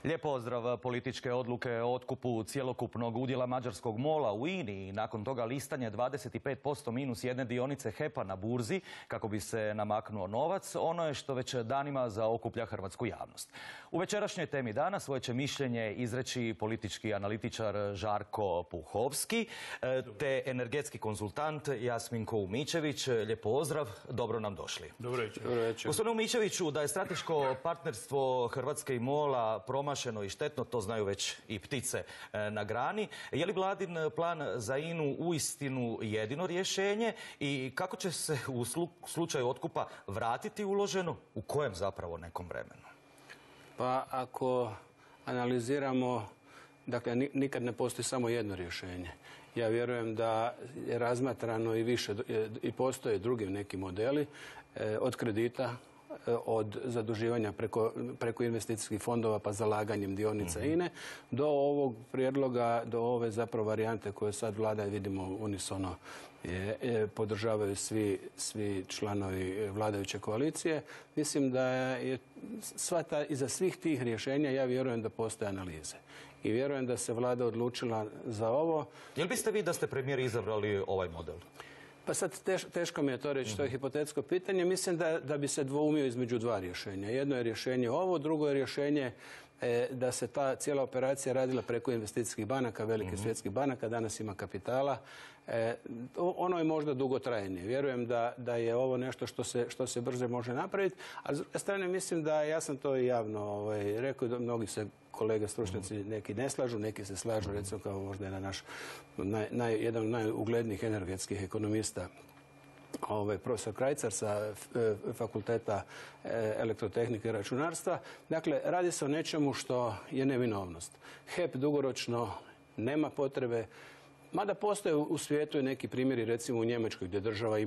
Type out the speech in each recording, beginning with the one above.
Lijep pozdrav. Političke odluke o otkupu cjelokupnog udjela mađarskog MOL-a u INA-i i nakon toga listanje 25% minus jedne dionice HEP-a na burzi kako bi se namaknuo novac, ono je što već danima zaokuplja hrvatsku javnost. U večerašnjoj temi dana svoje će mišljenje izreći politički analitičar Žarko Puhovski te energetski konzultant Jasminko Umičević. Lijep pozdrav, dobro nam došli. Dobro večer. Gospodine Umičeviću, da je strateško partnerstvo Hrvatske i MOL-a promašeno i štetno, to znaju već i ptice na grani. Je li vladin plan za INA-u uistinu jedino rješenje i kako će se u slučaju otkupa vratiti uloženo, u kojem zapravo nekom vremenu? Pa ako analiziramo, dakle nikad ne postoji samo jedno rješenje. Ja vjerujem da je razmatrano i više, i postoje drugi neki modeli od kredita, od zaduživanja preko investicijskih fondova pa zalaganjem dionica INA-e do ovog prijedloga, do ove zapravo varijante koje sad vlada, vidimo unisono podržavaju svi članovi vladajuće koalicije. Mislim da je iza svih tih rješenja ja vjerujem da postoje analize. I vjerujem da se vlada odlučila za ovo. Jel biste vi da ste premijer izabrali ovaj model? Pa sad teško mi je to reći, to je hipotetsko pitanje. Mislim da bi se dvoumio između dva rješenja. Jedno je rješenje ovo, drugo je rješenje da se ta cijela operacija radila preko investicijskih banaka, velikih svjetskih banaka, danas ima kapitala. Ono je možda dugotrajnije. Vjerujem da je ovo nešto što se brže može napraviti, a s druge strane mislim da, ja sam to i javno rekao, da mnogi se kolege stručnjaci neki ne slažu, neki se slažu, recimo kao možda je naš jedan od najuglednijih energetskih ekonomista, profesor Krajcar sa Fakulteta elektrotehnike i računarstva. Dakle, radi se o nečemu što je neminovnost. HEP dugoročno nema potrebe, mada postoje u svijetu i neki primjeri, recimo u Njemačkoj gdje država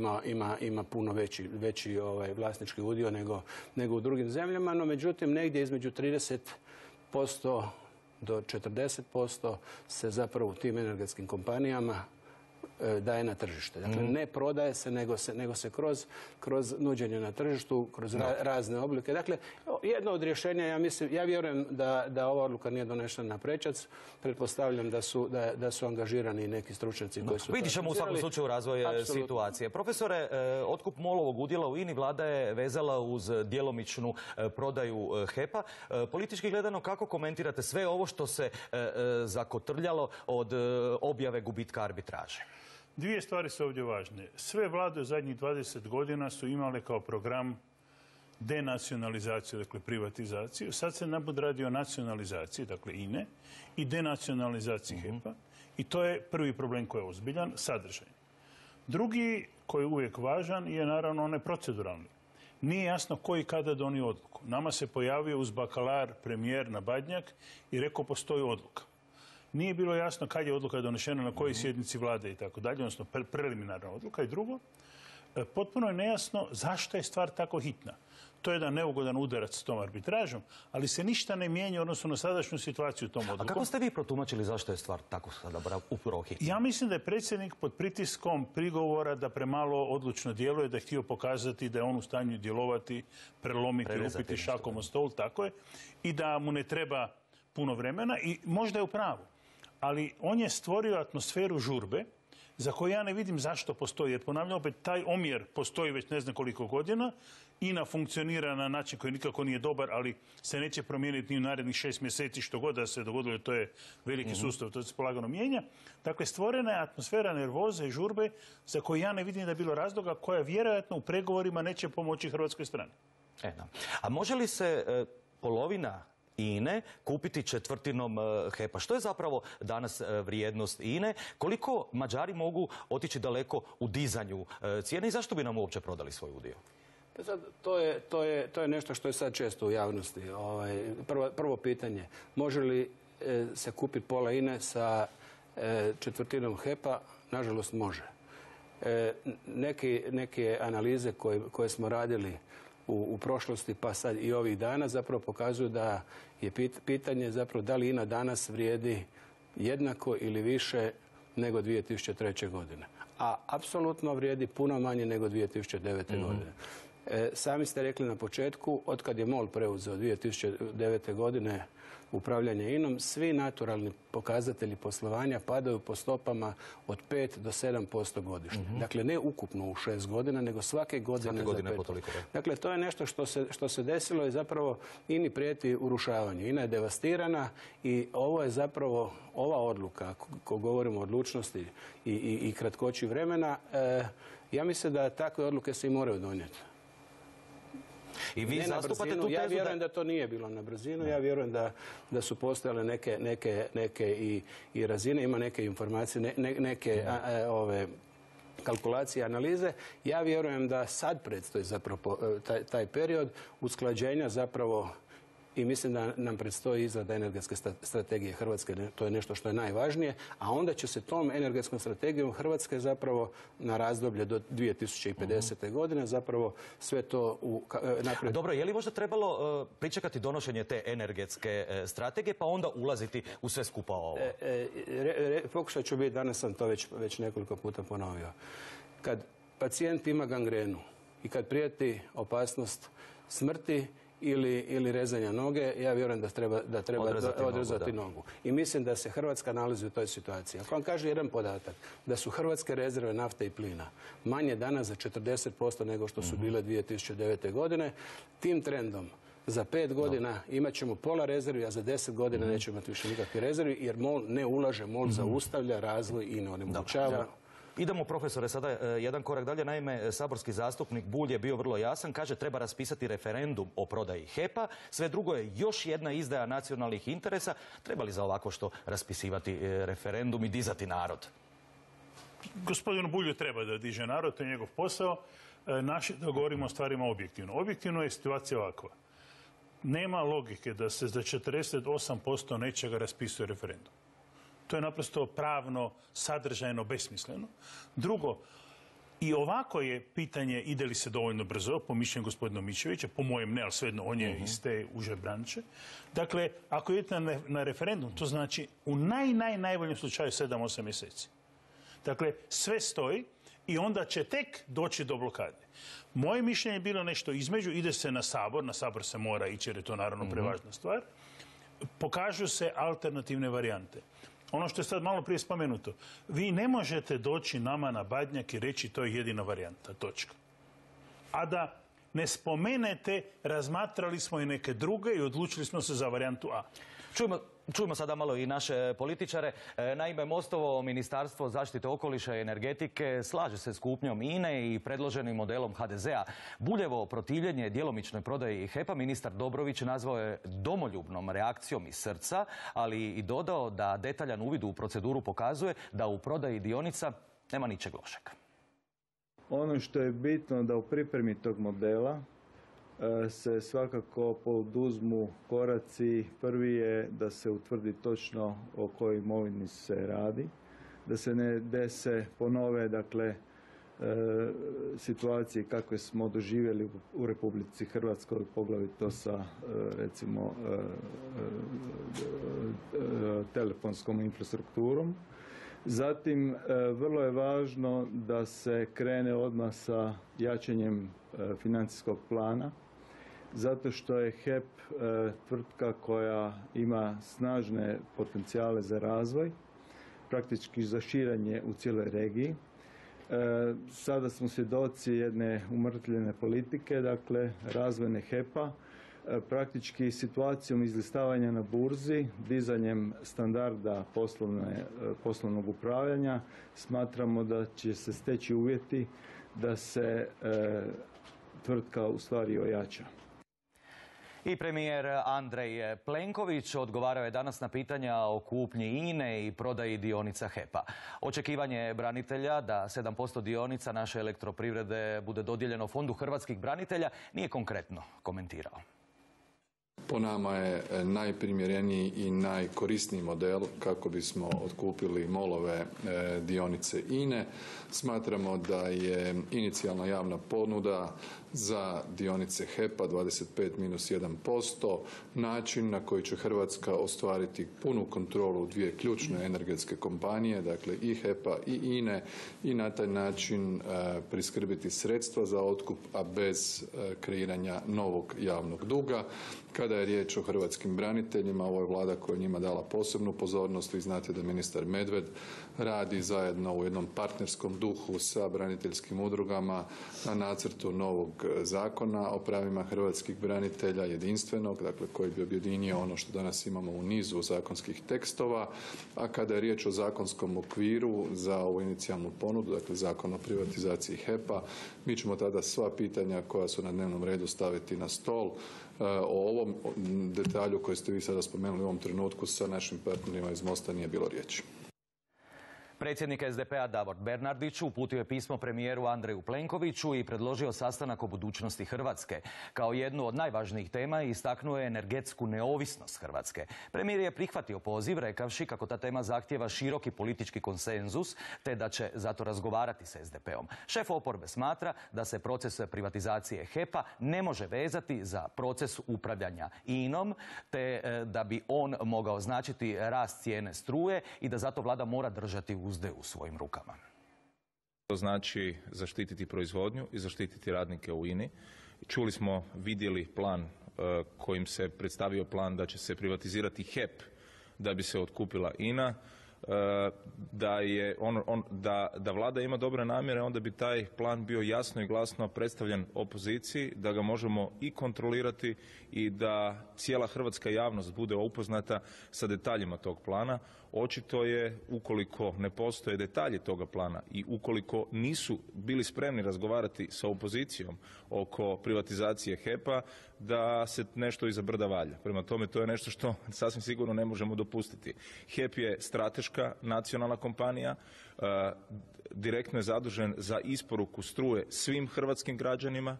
ima puno veći vlasnički udio nego u drugim zemljama, no međutim negdje između 30% do 40% se zapravo u tim energetskim kompanijama daje na tržište. Dakle, ne prodaje se, nego se kroz nuđenje na tržištu, kroz razne oblike. Dakle, jedno od rješenja, ja vjerujem da ova odluka nije donešena na prečac. Pretpostavljam da su angažirani neki stručnjaci koji su... Vidit ćemo u svakom slučaju razvoj situacije. Profesore, otkup MOL-ovog udjela u INA-i vlada je vezala uz djelomičnu prodaju HEP-a. Politički gledano, kako komentirate sve ovo što se zakotrljalo od objave gubitka arbitraže? Dvije stvari su ovdje važne. Sve vlade u zadnjih 20 godina su imale kao program denacionalizaciju, dakle privatizaciju. Sad se naput radi o nacionalizaciji, dakle INA-e, i denacionalizaciji HEP-a. I to je prvi problem koji je ozbiljan, sadržaj. Drugi, koji je uvijek važan, je naravno onaj proceduralni. Nije jasno koji kada donio odluku. Nama se pojavio uz bakalar premijer na Badnjak i rekao postoji odluka. Nije bilo jasno kad je odluka donešena, na kojoj sjednici vlade i tako dalje, odnosno preliminarna odluka. I drugo, potpuno je nejasno zašto je stvar tako hitna. To je jedan neugodan udarac s tom arbitražom, ali se ništa ne mijenja odnosno na sadašnju situaciju tom odlukom. A kako ste vi protumačili zašto je stvar tako sada upravo hitna? Ja mislim da je predsjednik pod pritiskom prigovora da premalo odlučno djeluje, da je htio pokazati da je on u stanju djelovati, prelomiti, lupiti šakom o stol, tako je, i da mu ne treba puno vremena i možda je u pravu. Ali on je stvorio atmosferu žurbe za koju ja ne vidim zašto postoji. Jer ponavljam opet, taj omjer postoji već ne znam koliko godina. INA funkcionira na način koji nikako nije dobar, ali se neće promijeniti ni u narednih 6 mjeseci, što god da se dogodilo, to je veliki sustav, to se polagano mijenja. Dakle, stvorena je atmosfera nervoze i žurbe za koju ja ne vidim da je bilo razloga, koja vjerojatno u pregovorima neće pomoći hrvatskoj strani. A može li se polovina INA-e kupiti četvrtinom HEP-a? Što je zapravo danas vrijednost INA-e? Koliko Mađari mogu otići daleko u dizanju cijene i zašto bi nam uopće prodali svoj udio? Sad, to je nešto što je sad često u javnosti. Prvo pitanje, može li se kupiti pola INA-e sa četvrtinom HEP-a? Nažalost može. Neke analize koje smo radili u prošlosti pa sad i ovih dana zapravo pokazuju da je pitanje zapravo da li INA danas vrijedi jednako ili više nego 2003. godine. A apsolutno vrijedi puno manje nego 2009. godine. Sami ste rekli na početku, otkad je MOL preuzeo 2009. godine upravljanje INA-om, svi naturalni pokazatelji poslovanja padaju po stopama od 5 do 7% godišnje. Dakle, ne ukupno u 6 godina, nego svake godine za 5%. Dakle, to je nešto što se desilo i zapravo INA-i prijeti urušavanje. INA je devastirana i ovo je zapravo, ova odluka, ako govorimo o odlučnosti i kratkoći vremena, ja mislim da takve odluke se i moraju donijeti. I vi zastupate tu tezu? Ja vjerujem da to nije bilo na brzinu, ja vjerujem da su postojale neke i razine, ima neke informacije, neke kalkulacije, analize. Ja vjerujem da sad predstoji zapravo taj period usklađenja zapravo i mislim da nam predstoji izrada energetske strategije Hrvatske. To je nešto što je najvažnije, a onda će se tom energetskom strategijom Hrvatske zapravo na razdoblje do 2050. godine zapravo sve to naprijed. Dobro, je li možda trebalo pričekati donošenje te energetske strategije pa onda ulaziti u sve skupa ovo? Pokušat ću biti, danas sam to već nekoliko puta ponovio. Kad pacijent ima gangrenu i kad prijeti opasnost smrti ili rezanja noge, ja vjerujem da treba odrezati nogu. I mislim da se Hrvatska nalazi u toj situaciji. Ako vam kaže jedan podatak, da su hrvatske rezerve nafte i plina manje danas za 40% nego što su bile 2009. godine, tim trendom za 5 godina imat ćemo pola rezervi, a za 10 godina nećemo imati više nikakve rezervi, jer MOL ne ulaže, MOL zaustavlja razvoj i ne onemogućava. Idemo, profesore, sada jedan korak dalje. Naime, saborski zastupnik Bulj je bio vrlo jasan. Kaže, treba raspisati referendum o prodaji HEP-a. Sve drugo je još jedna izdaja nacionalnih interesa. Treba li za ovako što raspisivati referendum i dizati narod? Gospodinu Bulju treba da diže narod, to je njegov posao. Naše da govorimo o stvarima objektivno. Objektivno je situacija ovakva. Nema logike da se za 48% nečega raspisuje referendum. To je naprosto pravno, sadržajno, besmisleno. Drugo, i ovako je pitanje ide li se dovoljno brzo, po mišljenju gospodina Mičevića, po mojem ne, ali svejedno on je iz te uže branče. Dakle, ako idete na referendum, to znači u najboljem slučaju 7-8 mjeseci. Dakle, sve stoji i onda će tek doći do blokade. Moje mišljenje je bilo nešto između, ide se na Sabor se mora ići jer je to naravno prevažna stvar, pokažu se alternativne varijante. Ono što je sad malo prije spomenuto, vi ne možete doći nama na Badnjak i reći to je jedina varijanta, točka. A da ne spomenete, razmatrali smo i neke druge i odlučili smo se za varijantu A. Čujemo sada malo i naše političare. Naime, Mostovo Ministarstvo zaštite okoliša i energetike slaže se s kupnjom INA-e i predloženim modelom HDZ-a. Buljevo protivljenje djelomičnoj prodaji HEP-a ministar Dobrović nazvao je domoljubnom reakcijom iz srca, ali i dodao da detaljan uvid u proceduru pokazuje da u prodaji dionica nema ničeg lošeg. Ono što je bitno da u pripremi tog modela se svakako poduzmu koraci. Prvi je da se utvrdi točno o kojoj imovini se radi, da se ne dese ponove, dakle, situacije kakve smo doživjeli u Republici Hrvatskoj, poglavito sa, recimo, telefonskom infrastrukturom. Zatim, vrlo je važno da se krene odmah sa jačanjem financijskog plana, zato što je HEP tvrtka koja ima snažne potencijale za razvoj, praktički za širenje u cijeloj regiji. Sada smo svjedoci jedne umrtvljene politike, dakle razvojne HEP-a, praktički situacijom izlistavanja na burzi, dizanjem standarda poslovnog upravljanja, smatramo da će se steći uvjeti da se tvrtka u stvari ojača. I premijer Andrej Plenković odgovarao je danas na pitanja o kupnji INA-e i prodaji dionica HEP-a. Očekivanje branitelja da 7% dionica naše elektroprivrede bude dodijeljeno Fondu hrvatskih branitelja nije konkretno komentirao. po nama je najprimjereniji i najkorisniji model kako bismo otkupili MOL-ove dionice INA-e. Smatramo da je inicijalna javna ponuda za dionice HEP-a 25-1% način na koji će Hrvatska ostvariti punu kontrolu dvije ključne energetske kompanije, dakle i HEP-a i INA-e, i na taj način priskrbiti sredstva za otkup, a bez kreiranja novog javnog duga. Kada je riječ o hrvatskim braniteljima, ovo je Vlada koja je njima dala posebnu pozornost. Vi znate da ministar Medved radi zajedno u jednom partnerskom duhu sa braniteljskim udrugama na nacrtu novog zakona o pravima hrvatskih branitelja, jedinstvenog, dakle koji bi objedinio ono što danas imamo u nizu zakonskih tekstova. A kada je riječ o zakonskom okviru za ovu inicijalnu ponudu, dakle zakon o privatizaciji HEP-a, mi ćemo tada sva pitanja koja su na dnevnom redu staviti na stol. O ovom detalju koji ste vi sada spomenuli u ovom trenutku sa našim partnerima iz Mosta nije bilo riječi. Predsjednik SDP-a Davor Bernardić uputio je pismo premijeru Andreju Plenkoviću i predložio sastanak o budućnosti Hrvatske. Kao jednu od najvažnijih tema istaknuo je energetsku neovisnost Hrvatske. Premijer je prihvatio poziv rekavši kako ta tema zahtijeva široki politički konsenzus te da će zato razgovarati s SDP-om. Šef oporbe smatra da se proces privatizacije HEP-a ne može vezati za proces upravljanja INA-om te da bi on mogao značiti rast cijene struje i da zato vlada mora držati uzde u svojim rukama. To znači zaštititi proizvodnju i zaštititi radnike u INA-i. Čuli smo, vidjeli plan kojim se predstavio plan da će se privatizirati HEP da bi se otkupila INA. Da vlada ima dobre namjere, onda bi taj plan bio jasno i glasno predstavljen opoziciji, da ga možemo i kontrolirati i da cijela hrvatska javnost bude upoznata sa detaljima tog plana. Očito je, ukoliko ne postoje detalji toga plana i ukoliko nisu bili spremni razgovarati sa opozicijom oko privatizacije HEP-a, da se nešto iza brda valja. Prema tome, to je nešto što sasvim sigurno ne možemo dopustiti. HEP je strateška nacionalna kompanija, direktno je zadužen za isporuku struje svim hrvatskim građanima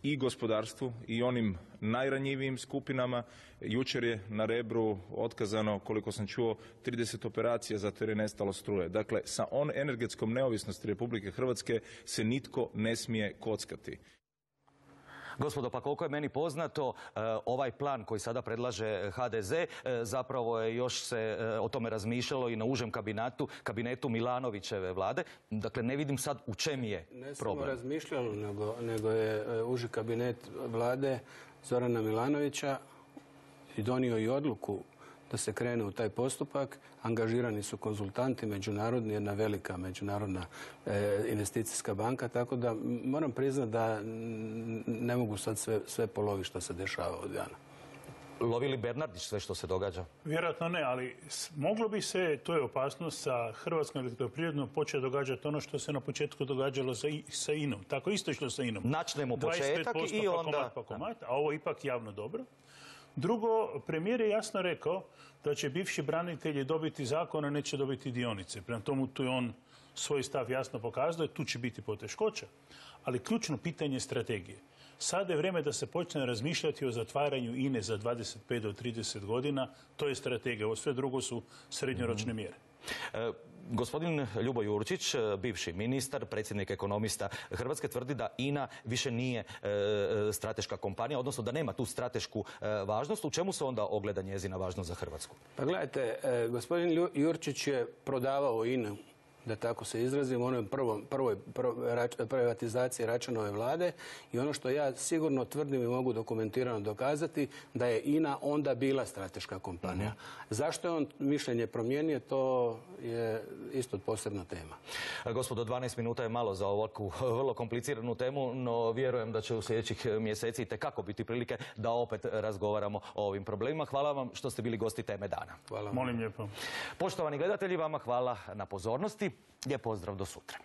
i gospodarstvu i onim najranjivijim skupinama. Jučer je na Rebru otkazano, koliko sam čuo, 30 operacija zato jer je nestalo struje. Dakle, sa energetskom neovisnosti Republike Hrvatske se nitko ne smije kockati. Gospodo, pa koliko je meni poznato, ovaj plan koji sada predlaže HDZ, zapravo je još se o tome razmišljalo i na užem kabinetu Milanovićeve vlade. Dakle, ne vidim sad u čem je problem. Ne samo razmišljalo, nego je uži kabinet vlade Zorana Milanovića i donio i odluku da se krene u taj postupak. Angažirani su konzultanti međunarodni, jedna velika međunarodna investicijska banka, tako da moram priznati da ne mogu sad sve poloviti što se dešava od dana. Lovi li Bernardić sve što se događa? Vjerojatno ne, ali moglo bi se, to je opasnost, sa Hrvatskom elektroprivredom početi događati ono što se na početku događalo sa INA-om. Tako isto išlo sa INA-om. Načnemo početak i onda... komad, a ovo je ipak javno dobro. Drugo, premijer je jasno rekao da će bivši branitelji dobiti zakon, a neće dobiti dionice. Prema tomu tu je on svoj stav jasno pokazao, tu će biti poteškoća. Ali ključno pitanje je strategije. Sada je vrijeme da se počne razmišljati o zatvaranju INA-e za 25 do 30 godina. To je strategija. Ovo sve drugo su srednjoročne mjere. Gospodin Ljubo Jurčić, bivši ministar, predsjednik ekonomista Hrvatske, tvrdi da INA više nije strateška kompanija, odnosno da nema tu stratešku važnost. U čemu se onda ogleda njezina važnost za Hrvatsku? Pa gledajte, gospodin Jurčić je prodavao INA-u, da tako se izrazim, u onoj prvoj privatizaciji Račanove vlade, i ono što ja sigurno tvrdim i mogu dokumentirano dokazati, da je INA onda bila strateška kompanija. Zašto je on mišljenje promijenio, to je isto posebna tema. Gospodo, 12 minuta je malo za ovakvu vrlo kompliciranu temu, no vjerujem da će u sljedećih mjeseci itekako biti prilike da opet razgovaramo o ovim problemima. Hvala vam što ste bili gosti Teme dana. Hvala. Molim lijepo. Poštovani gledatelji, vama hvala na pozornosti. Lijep pozdrav, do sutra.